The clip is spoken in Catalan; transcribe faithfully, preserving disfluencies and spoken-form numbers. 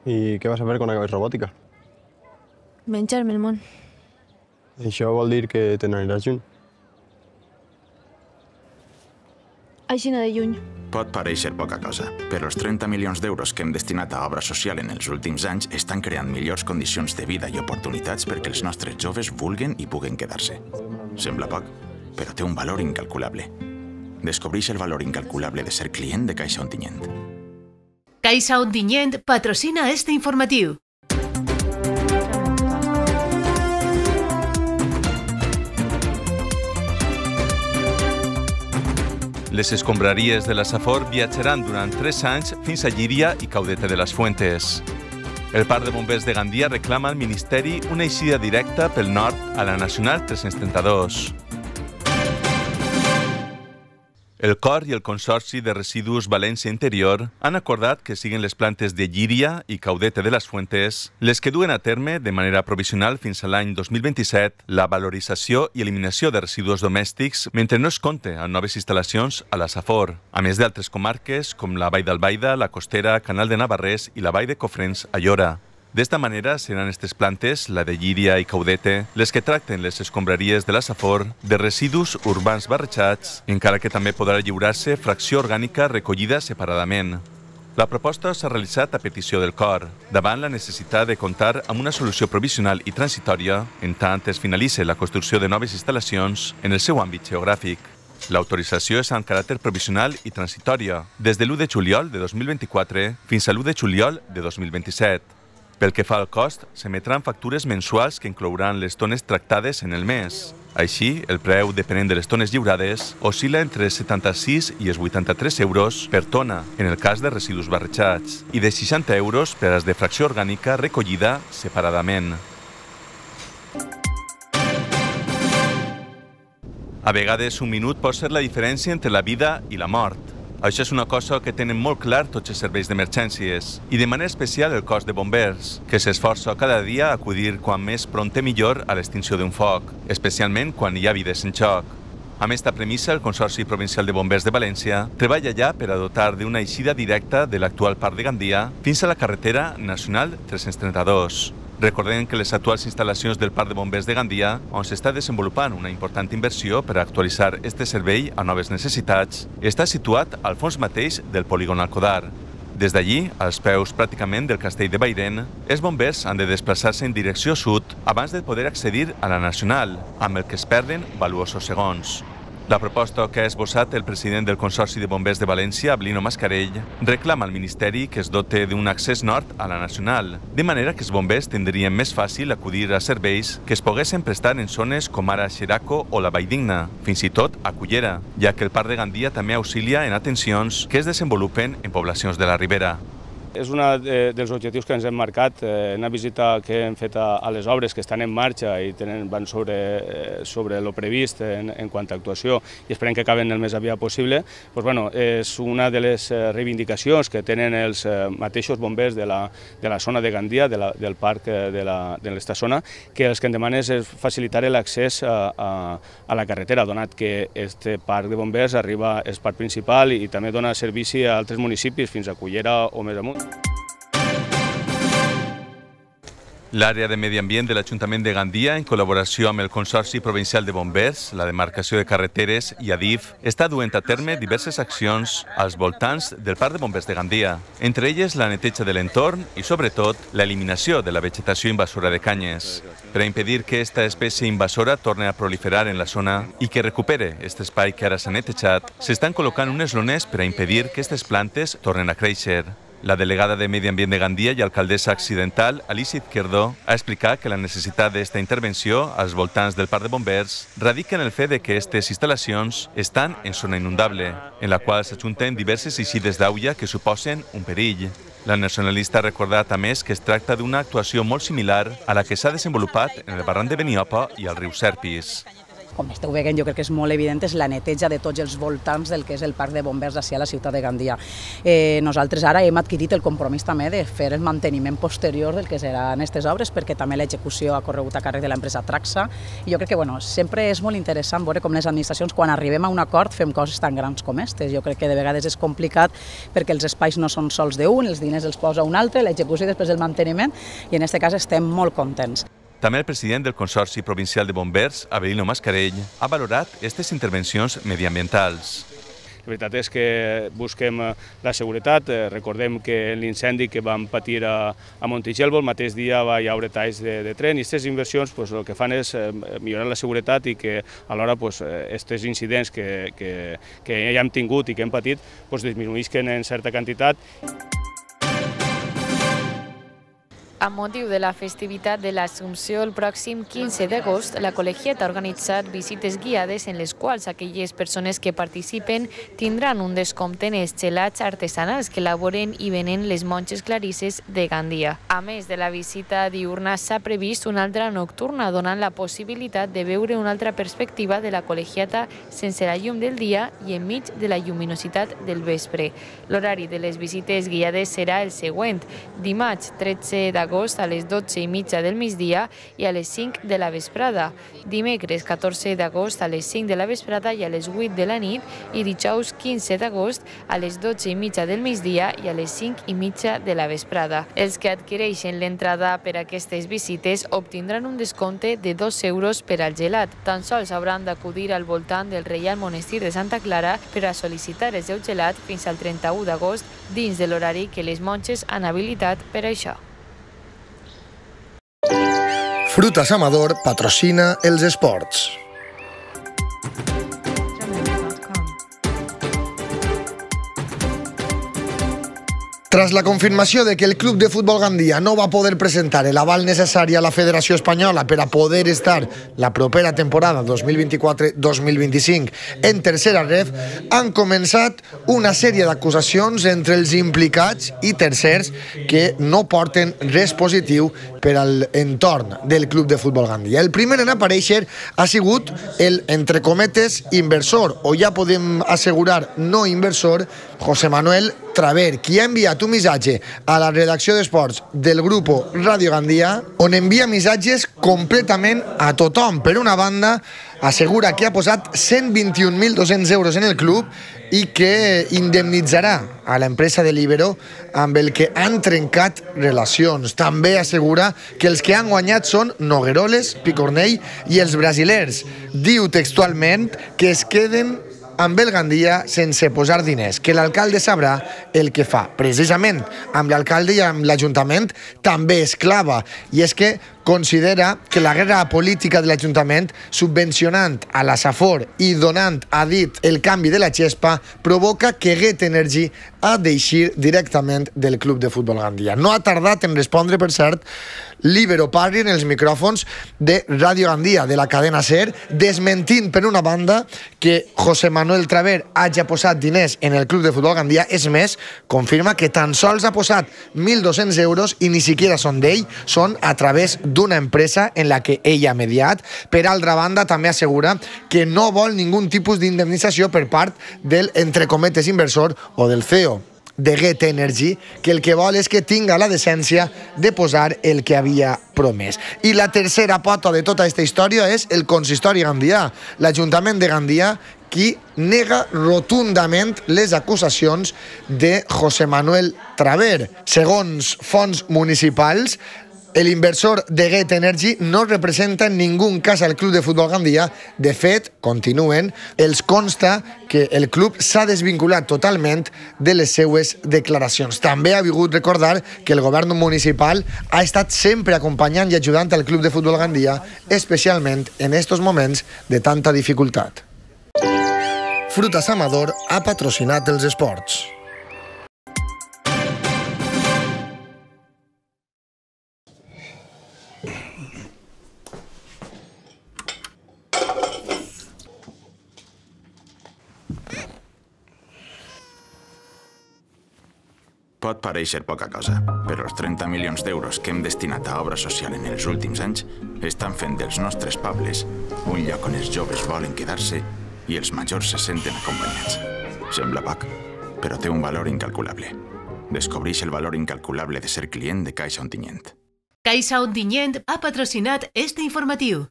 I què vas a fer quan acabes robòtica? Menjar-me el món. Això vol dir que te n'aniràs lluny. Aixina de lluny. Pot parèixer poca cosa, però els trenta milions d'euros que hem destinat a obra social en els últims anys estan creant millors condicions de vida i oportunitats perquè els nostres joves vulguen i puguen quedar-se. Sembla poc, però té un valor incalculable. Descobreix el valor incalculable de ser client de Caixa Ontinyent. Caixa Ontinyent patrocina este informatiu. Les escombraries de la Safor viatjaran durant tres anys fins a Llíria i Caudete de las Fuentes. El Parc de Bombers de Gandia reclama al Ministeri una eixida directa pel nord a la Nacional tres-cents trenta-dos. El Cor i el Consorci de Residus València Interior han acordat que siguin les plantes de Llíria i Caudete de las Fuentes les que duen a terme de manera provisional fins a l'any dos mil vint-i-set la valorització i eliminació de residus domèstics mentre no es compte amb noves instal·lacions a la Safor, a més d'altres comarques com la Vall d'Albaida, la Costera, Canal de Navarrés i la Vall de Cofrents a Llora. D'esta manera, seran aquestes plantes, la de Llíria i Caudete, les que tracten les escombraries de la Safor de residus urbans barrejats, encara que també podrà lliurar-se fracció orgànica recollida separadament. La proposta s'ha realitzat a petició del Cor, davant la necessitat de comptar amb una solució provisional i transitòria en tant es finalitzi la construcció de noves instal·lacions en el seu àmbit geogràfic. L'autorització és amb caràcter provisional i transitòria, des de l'u de juliol de dos mil vint-i-quatre fins a l'u de juliol de dos mil vint-i-set. Pel que fa al cost, s'emetran factures mensuals que inclouran les tones tractades en el mes. Així, el preu, depenent de les tones lliurades, oscil·la entre els setanta-sis i els vuitanta-tres euros per tona, en el cas de residus barrejats, i de seixanta euros per als de fracció orgànica recollida separadament. A vegades, un minut pot ser la diferència entre la vida i la mort. Això és una cosa que tenen molt clar tots els serveis d'emergències i de manera especial el cos de bombers, que s'esforça cada dia a acudir quan més prompte millor a l'extinció d'un foc, especialment quan hi ha vides en joc. Amb esta premissa, el Consorci Provincial de Bombers de València treballa ja per a dotar d'una eixida directa de l'actual Parc de Gandia fins a la carretera Nacional tres-cents trenta-dos. Recordem que les actuals instal·lacions del Parc de Bombers de Gandia, on s'està desenvolupant una important inversió per a actualitzar este servei a noves necessitats, està situat al fons mateix del polígon Alcodar. Des d'allí, als peus pràcticament del castell de Bairen, els bombers han de desplaçar-se en direcció sud abans de poder accedir a la Nacional, amb el que es perden valuosos segons. La proposta que ha esbossat el president del Consorci de Bombers de València, Ablino Mascarell, reclama al Ministeri que es dote d'un accés nord a la Nacional, de manera que els bombers tindrien més fàcil acudir a serveis que es poguessin prestar en zones com ara Xeraco o la Valldigna, fins i tot a Cullera, ja que el Parc de Gandia també auxilia en atencions que es desenvolupen en poblacions de la Ribera. És un dels objectius que ens hem marcat. Una visita que hem fet a les obres que estan en marxa i van sobre el previst en quant a actuació i esperem que acaben el més aviat possible. És una de les reivindicacions que tenen els mateixos bombers de la zona de Gandia, del parc de l'esta zona, que els que en demanen és facilitar l'accés a la carretera, donat que aquest parc de bombers arriba al parc principal i també dona servici a altres municipis, fins a Cullera o més amunt. L'àrea de Medi Ambient de l'Ajuntament de Gandia, en col·laboració amb el Consorci Provincial de Bombers, la demarcació de carreteres i Adif, està duent a terme diverses accions als voltants del Parc de Bombers de Gandia, entre elles la neteja de l'entorn i, sobretot, l'eliminació de la vegetació invasora de canyes, per a impedir que aquesta espècie invasora torni a proliferar en la zona i que recupere aquest espai que ara s'ha netejat. S'estan col·locant unes lones per a impedir que aquestes plantes tornen a créixer. La delegada de Medi Ambient de Gandia i alcaldessa accidental, Alicia Izquierdo, ha explicat que la necessitat d'esta intervenció als voltants del Parc de Bombers radica en el fet de que aquestes instal·lacions estan en zona inundable, en la qual s'ajunten diverses eixides d'aigua que suposen un perill. La nacionalista ha recordat, a més, que es tracta d'una actuació molt similar a la que s'ha desenvolupat en el barranc de Beniopa i al riu Serpis. com esteu veient, jo crec que és molt evident, és la neteja de tots els voltants del que és el parc de bombers d'ací a la ciutat de Gandia. Eh, nosaltres ara hem adquirit el compromís també de fer el manteniment posterior del que seran aquestes obres, perquè també l'execució ha corregut a càrrec de l'empresa Traxa, i jo crec que bueno, sempre és molt interessant veure com les administracions, quan arribem a un acord, fem coses tan grans com aquestes. Jo crec que de vegades és complicat perquè els espais no són sols d'un, els diners els posa un altre, l'execució i després el manteniment, i en aquest cas estem molt contents. També el president del Consorci Provincial de Bombers, Avelino Mascarell, ha valorat aquestes intervencions mediambientals. La veritat és que busquem la seguretat. Recordem que l'incendi que vam patir a, a Montigelvo, el mateix dia va haver talls de, de tren, i aquestes inversions pues, el que fan és millorar la seguretat i que alhora aquests pues, incidents que, que, que ja hem tingut i que hem patit pues, disminuïsquen en certa quantitat. Amb motiu de la festivitat de l'Assumpció, el pròxim quinze d'agost, la col·legiat ha organitzat visites guiades en les quals aquelles persones que participen tindran un descompte en els gelats artesanals que elaboren i venen les monges clarisses de Gandia. A més de la visita diurna, s'ha previst una altra nocturna, donant la possibilitat de veure una altra perspectiva de la col·legiata sense la llum del dia i enmig de la lluminositat del vespre. L'horari de les visites guiades serà el següent: dimarts tretze d'agost a les dotze i mitja del migdia i a les cinc de la vesprada, dimecres catorze d'agost a les cinc de la vesprada i a les vuit de la nit, i dijous quinze d'agost a les dotze i mitja del migdia i a les cinc i mitja de la vesprada. Els que adquireixen l'entrada per a aquestes visites obtindran un descompte de dos euros per al gelat. Tan sols hauran d'acudir al voltant del Reial Monestir de Santa Clara per a sol·licitar el seu gelat fins al trenta-u d'agost dins de l'horari que les monges han habilitat per a això. Frutas Amador patrocina els esports. Tras la confirmació de que el Club de Futbol Gandia no va poder presentar l'aval necessari a la Federació Espanyola per a poder estar la propera temporada dos mil vint-i-quatre dos mil vint-i-cinc en tercera ref, han començat una sèrie d'acusacions entre els implicats i tercers que no porten res positiu per a l'entorn del Club de Futbol Gandia. El primer en aparèixer ha sigut el, entre cometes, inversor, o ja podem assegurar no inversor, José Manuel Traver, qui ha enviat un missatge a la redacció d'esports del grup Ràdio Gandia, on envia missatges completament a tothom. Per una banda, assegura que ha posat cent vint-i-un mil dos-cents euros en el club i que indemnitzarà a l'empresa de Libero amb el que han trencat relacions. També assegura que els que han guanyat són Nogueroles, Picornell i els brasilers. Diu textualment que es queden amb el Gandia sense posar diners, que l'alcalde sabrà el que fa. Precisament amb l'alcalde i amb l'Ajuntament també es clava, i és que considera que la guerra política de l'Ajuntament, subvencionant a la Safor i donant a dit el canvi de la xespa, provoca que Get Energy ha d'eixir directament del Club de Futbol Gandia. No ha tardat en respondre, per cert, Libero Parri en els micròfons de Ràdio Gandia, de la cadena SER, desmentint per una banda que José Manuel Traver hagi posat diners en el Club de Futbol Gandia. És més, confirma que tan sols ha posat mil dos-cents euros i ni siquiera són d'ell, són a través d'una empresa en la que ell ha mediat. Per altra banda, també assegura que no vol ningú tipus d'indemnització per part del, entre cometes, inversor o del C E O de Get Energy, que el que vol és que tinga la decència de posar el que havia promès. I la tercera pota de tota aquesta història és el consistori gandià, l'Ajuntament de Gandia, qui nega rotundament les acusacions de José Manuel Traver. Segons fonts municipals, el inversor de Get Energy no representa en ningú cas al Club de Futbol Gandia. De fet, continuen, els consta que el club s'ha desvinculat totalment de les seues declaracions. També ha volgut recordar que el govern municipal ha estat sempre acompanyant i ajudant al Club de Futbol Gandia, especialment en estos moments de tanta dificultat. Frutas Amador ha patrocinat els esports. Pot pareixer poca cosa, però els trenta milions d'euros que hem destinat a obra social en els últims anys estan fent dels nostres pobles un lloc on els joves volen quedar-se i els majors se senten acompanyats. Sembla poc, però té un valor incalculable. Descobreix el valor incalculable de ser client de Caixa Ontinyent. Caixa Ontinyent ha patrocinat este informatiu.